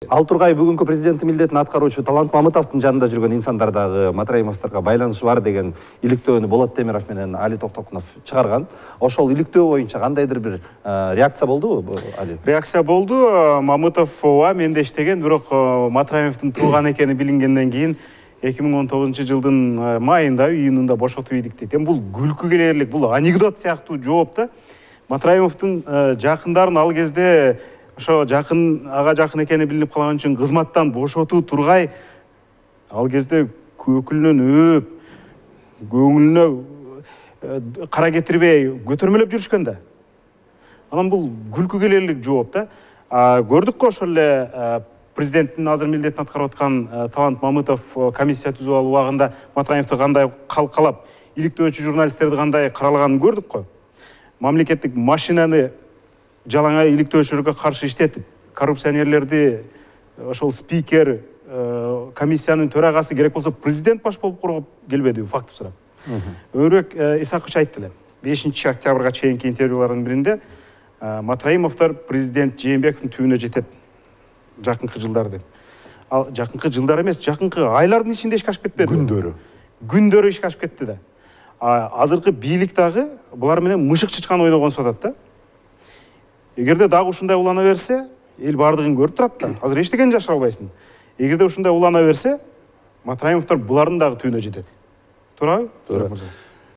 Ал Тургай бүгүнкү президенттин милдетин аткаруучу Талант Мамытовдун жанында жүргөн инсандар дагы Матраимовдорго байланышы бар деген иликтөөнү Болот Темиров менен Али Токтокунов чыгарган. Ошол иликтөө боюнча кандайдыр бир реакция болдубу, Али? Реакция болду. Мамытов ооба менде иштеген, бирок Матраимовдун тууган экени билингенден кийин 2019-жылдын майында, июнунда бошотуп ийдик дейт. Бул күлкү келерлик, бул анекдот сыяктуу жооп да. Матраимовдун жакындарын ал кезде ошо ага жакын экени билинип калган үчүн кызматтан бошотуу тургай, ал кезде көкүлүнөн өөп, көңүлүнө кара кетирбей көтөрмөлөп жүрүшкөн да. Анан бул күлкү келерлик жооп да. Көрдүк го ошол эле президенттин азыр милдетин аткарып аткан Талант Мамытов комиссия түзүп алуу убагында Матраимовду кандай калкалап, иликтөөчү журналисттерди кандай каралаганын көрдүк го. Мамлекеттик машинаны жалаңай иликтөөчүлөргө каршы иштетип, коррупционерлерди ошол спикер, комиссиянын төрагасы, керек болсо президент баш болуп коргоп келбедиби, факты сурап. Өмүрбек Исакович айтты эле. 5 октябрга чейинки интервьюлардын биринде Матраимовдор президент Жээнбековдун түбүнө жетет жакынкы жылдар деп. Ал жакынкы жылдар эмес, жакынкы айлардын ичинде ишке ашып кетпеди. Күндөрү ишке ашып кетти да. Азыркы бийлик дагы булар менен мышык чычкан ойногонсуп атат да. Эгерде дагы ушундай улана берсе, эл бардыгын көрүп турат да. Азыр эчтекени жашыра албайсың. Эгерде ушундай улана берсе, Матраимовдор булардын дагы түбүнө жетет. Туурабы? Туура.